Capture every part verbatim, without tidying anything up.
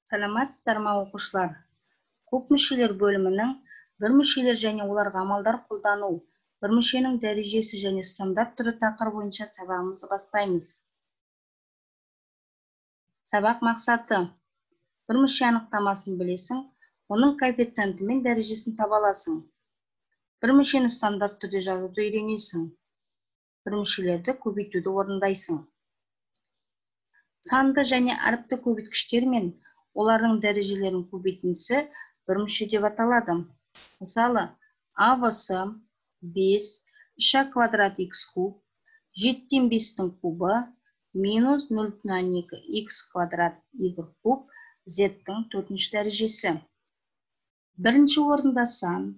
Саламатсыздар ма оқушылар? Көп мүшелер бөлімінің бір мүшелер және оларға амалдар қолдану, бір мүшенің дәрежесі және стандарт түрі тақырыбы бойынша сабағымызды бастаймыз. Сабақ мақсаты: бір мүше анықтамасын білесің, оның коэффициенті мен дәрежесін таба аласың. бір мүшені стандарт түрде жазуды үйренесің. бір мүшелерді көбейтуді орындайсың. Санды және әріпті көбейткіштер мен олардың дәрежелерінің көбейтіндісі бір мүше деп аталады. Мысалы, а в с бес, үш а квадрат х куб, жетіден бестің кубы, минус нөл бүтін екі х квадрат y куб, z-тің төртінші дәрежесі. Бірінші орында сан,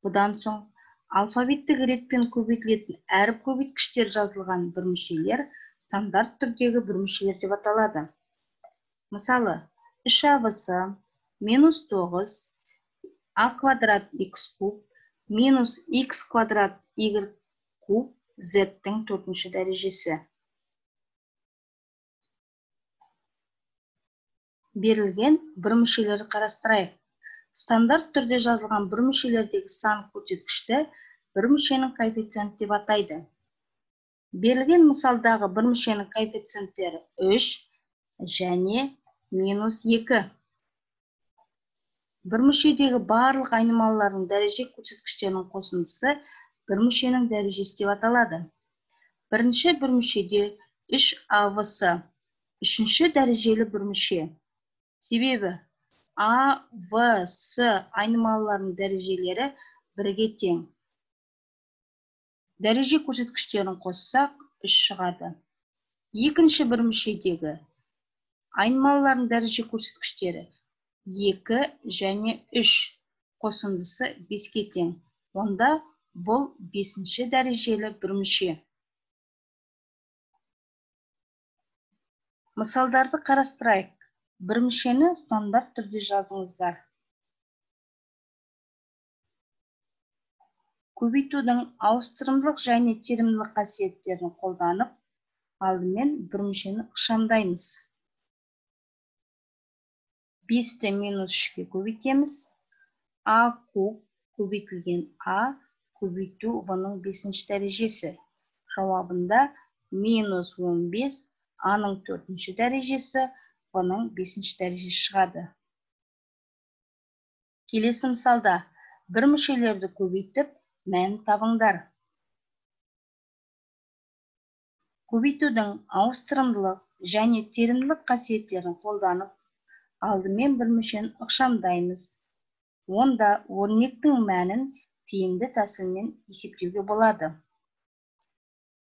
бұдан соң алфавиттік ретпен көбейтілетін әріп көбейткіштер жазылған бір мүшелер стандарт түрдегі бір мүшелер деп аталады. Мысалы, үш а в с минус тоғыз, а квадрат х куб, минус х квадрат y куб, z-тің төртінші дәрежесі. Берілген бір мүшелерді қарастырайық. Стандарт түрде жазылған бір мүшелердегі сан көрсеткішті бір мүшенің коэффициенті деп атайды. Берілген мысалдағы бір мүшенің коэффициенттері үш және минус екі. Бір мүшедегі барлық айнымалылардың дәреже көрсеткіштерінің қосындысы бір мүшенің дәрежесі деп аталады. Бірінші бір мүшеде үш а в с үшінші дәрежелі бір мүше. Себебі а в с айнымалыларының дәрежелері бірге тең. Дәреже көрсеткіштерін қоссақ үш шығады. Екінші бір мүшедегі айнымалылардың дәреже көрсеткіштері екі және үш, қосындысы беске тең. Онда бұл бесінші дәрежелі бір мүше. Мысалдарды қарастырайық. Бір мүшені стандарт түрде жазыңыздар. Көбейтудің ауыстырымдылық және терімділік қасиеттерін қолданып, алдымен бір мүшені ықшамдаймыз. бесті минус үшке көбейтеміз. А куб көбейтілген а көбейту в-ның бесінші дәрежесі. Жауабында минус он бес, а-ның төртінші дәрежесі, в-ның бесінші дәрежесі шығады. Келесі мысалда бір мүшелерді көбейтіп, мәнін табыңдар. Көбейтудің ауыстырымдылық және терімділік қасиеттерін қолданып, алдымен бір мүшені ықшамдаймыз. Онда өрнектің мәнін тиімді тәсілмен есептеуге болады.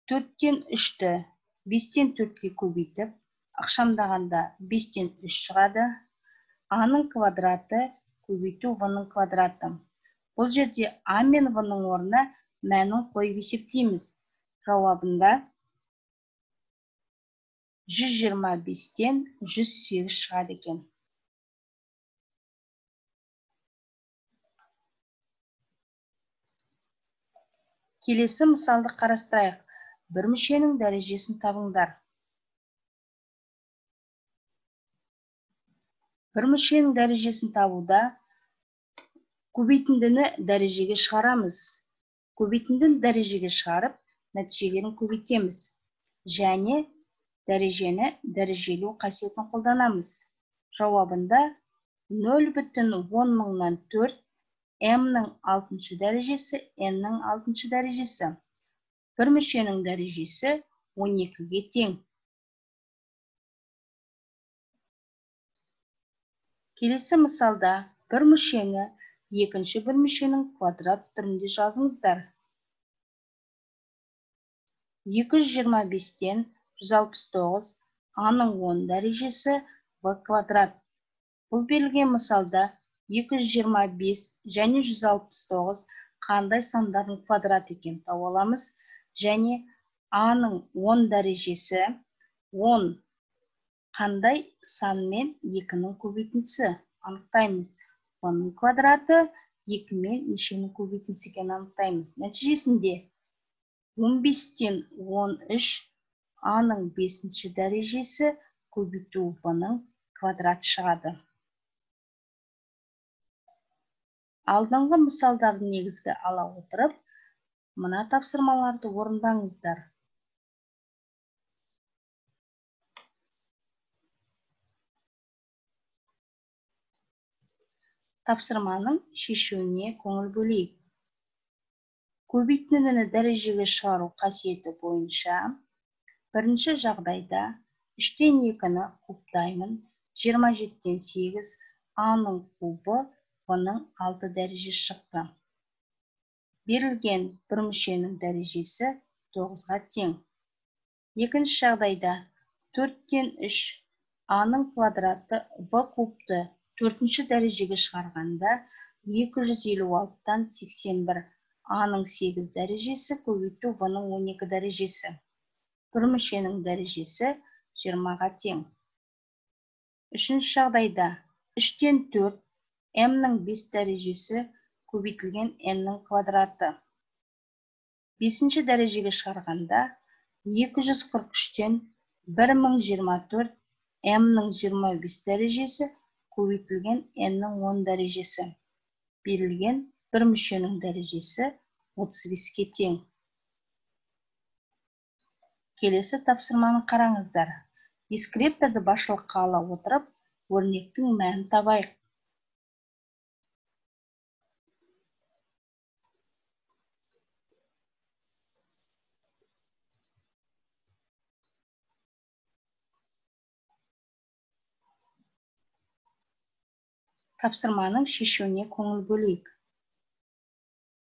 төрттен үшті бестен төртке көбейтіп, ықшамдағанда бестен үш шығады. А-ның квадраты көбейту в-ның квадраты. Бұл жерде а мен в-ның орнына мәнін қойып есептейміз. Жауабында жүз жиырма бестен жүз сегіз шығады екен. Келесі мысалды қарастырайық. Бір мүшенің дәрежесін табыңдар. Бір мүшенің дәрежесін табуда көбейтіндіні дәрежеге шығарамыз. Көбейтіндіні дәрежеге шығарып, нәтижелерін көбейтеміз. Және дәрежені дәрежелеу қасиетін қолданамыз. Жауабында нөл бүтін он мыңнан төрт, м-ның алтыншы дәрежесі, н-ның алтыншы дәрежесі. Бір мүшенің дәрежесі он екіге тең. Келесі мысалда бір мүшені екінші бір мүшенің квадрат түрінде жазыңыздар. екі жүз жиырма бестен жүз алпыс тоғыз, а-ның он дәрежесі, в квадрат. Бұл берілген мысалда екі жүз жиырма бес және жүз алпыс тоғыз қандай сандардың квадрат екен тауып аламыз. Және а-ның он дәрежесі он қандай сан мен екінің көбейтіндісі анықтаймыз. в-ның квадраты екі мен нешенің көбейтіндісі екенін анықтаймыз. Нәтижесінде он бестен он үш, а-ның бесінші дәрежесі көбейту в-ның квадраты шығады. Алдыңғы мысалдарды негізге ала отырып, мына тапсырмаларды орындаңыздар. Тапсырманың шешуіне көңіл бөлейік. Көбейтіндіні дәрежеге шығару қасиеті бойынша бірінші жағдайда үштен екіні кубтаймын, жиырма жетіден сегіз, а-ның кубы, в-ның алты дәрежесі шықты. Берілген бір мүшенің дәрежесі тоғызға тең. Екінші жағдайда төрттен үш, а-ның квадраты в кубты төртінші дәрежеге шығарғанда екі жүз елу алтыдан сексен бір, а-ның сегіз дәрежесі көбейту в-ның он екі дәрежесі. Бір мүшенің дәрежесі жиырмаға тең. Үшінші жағдайда үштен төрт, м-ның бес дәрежесі көбейтілген n-ның квадраты. Бесінші дәрежеге шығарғанда екі жүз қырық үштен бір мың жиырма төрт, м-ның жиырма бес дәрежесі көбейтілген n-ның он дәрежесі. Берілген бір мүшенің дәрежесі отыз беске тең. Келесі тапсырманы қараңыздар. Дискрипторды басшылыққа ала отырып, өрнектің мәнін табайық. Тапсырманың шешуіне көңіл бөлейік.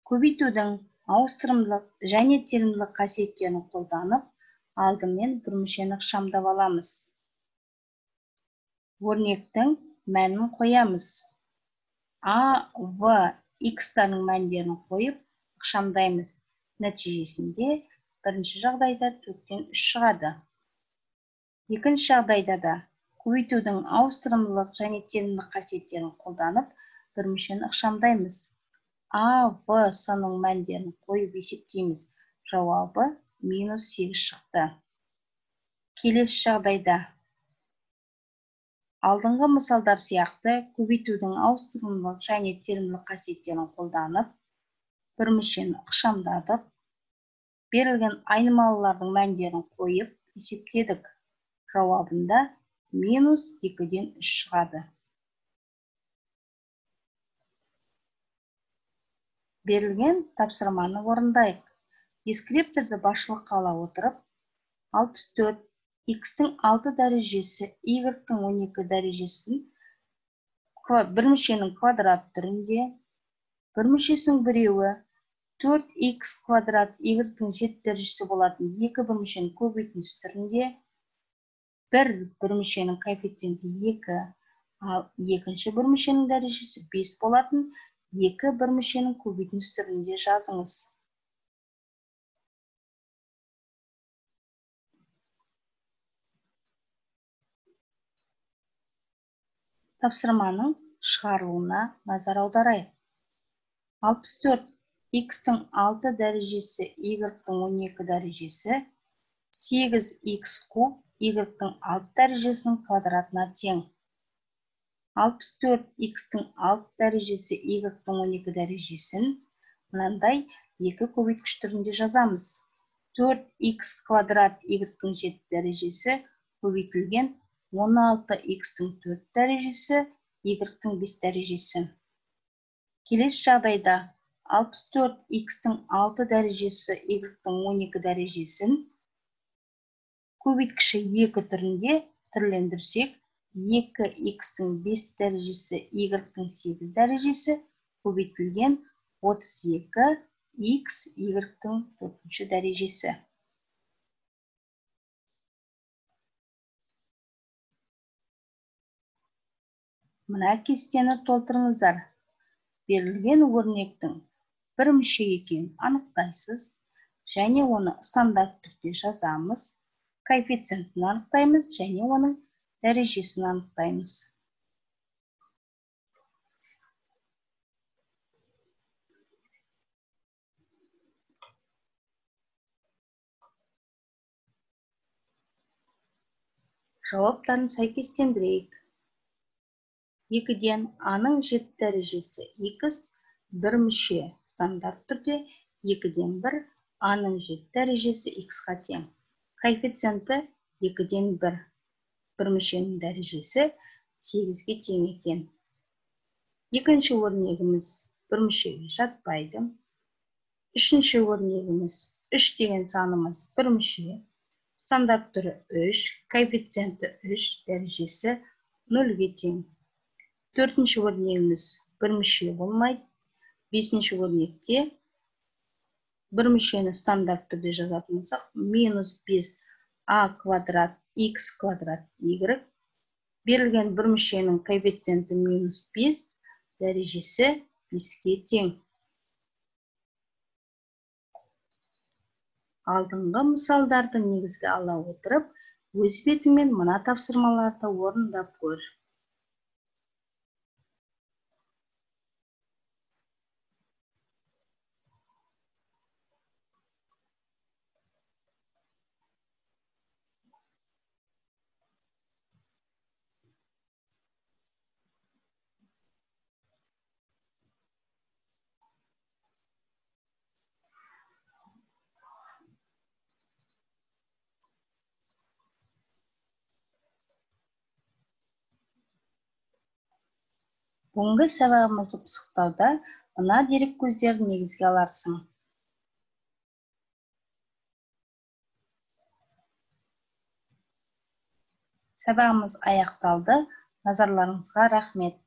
Көбейтудің ауыстырымдылық және телімділік қасиеттерін қолданып, алдымен бір мүшені ықшамдап аламыз. Өрнектің мәнін қоямыз. А, В, X-тардың мәндерін қойып, ықшамдаймыз. Нәтижесінде бірінші жағдайда төрттен үш шығады. Екінші жағдайда да көбейтудің ауыстырымдылық және телімділік қасиеттерін қолданып, бір мүшені ықшамдаймыз. А, В, С-ның мәндерін қойып есептейміз. Жауабы минус сегіз шықты. Келесі жағдайда алдыңғы мысалдар сияқты көбейтудің ауыстырымдылық және телімділік қасиеттерін қолданып, бір мүшені ықшамдадық. Берілген айнымалылардың мәндерін қойып есептедік. Жауабында минус екіден үш шығады. Берілген тапсырманы орындайық. Дескрипторды басшылыққа ала отырып, алпыс төрт, X-тің алты дәрежесі, Y-тің он екі дәрежесін бір мүшенің квадрат түрінде, бір мүшесінің біреуі төрт икс квадрат, Y-тің жеті дәрежесі болатын екі бір мүшенің көбейтіндісі түрінде, бір бір мүшенің коэффициенті екі, ал екінші бір мүшенің дәрежесі бес болатын екі бір мүшенің көбейтіндісі түрінде жазыңыз. Тапсырманың шығарылуына назар аударайық. алпыс төрт, X-тің алты дәрежесі, Y-тің он екі дәрежесі, сегіз икс куб, Y-тің алты дәрежесінің квадратына тең. алпыс төрт, X-тің алты дәрежесі, Y-тің он екі дәрежесін мынандай екі көбейткіш түрінде жазамыз. төрт икс квадрат, Y-тің жеті дәрежесі көбейтілген он алты икс-тің төрт дәрежесі, Y-тің бес дәрежесі. Келесі жағдайда алпыс төрт, X-тің алты дәрежесі, Y-тің он екі дәрежесін көбейткіші екі түрінде түрлендірсек, екі икс-тің бес дәрежесі, Y-тің сегіз дәрежесі көбейтілген отыз екі икс, Y-тің төртінші дәрежесі. Мына кестені толтырыңыздар. Берілген өрнектің бір мүше екенін анықтайсыз және оны стандарт түрде жазамыз. Коэффициентін анықтаймыз және оның дәрежесін анықтаймыз. Жауаптарын сәйкестендірейік. екіден а-ның жеті дәрежесі X, бірмүше стандарт түрде екіден бір, аның жеті дәрежесі х-ға тең. Коэффициенті екіден бір. Бірмүшенің дәрежесі сегізге тең екен. Екінші өрнегіміз бірмүшеге жатпайды. Үшінші өрнегіміз үш деген санымыз бірмүше. Стандарт түрі үш, коэффициенті үш, дәрежесі нөлге тең. Төртінші өрнегіміз бірмүше болмайды. Бесінші өрнекте бірмүшені стандарт түрде жазатын болсақ, минус бес а квадрат х квадрат y. Берілген бірмүшенің коэффициенті минус бес, дәрежесі беске тең. Алдыңғы мысалдарды негізге ала отырып, өз бетіңмен мына тапсырмаларды орындап көр. Бүгінгі сабағымызды пысықтауда мына дерек көздерін негізге аларсың. Сабағымыз аяқталды. Назарларыңызға рахмет.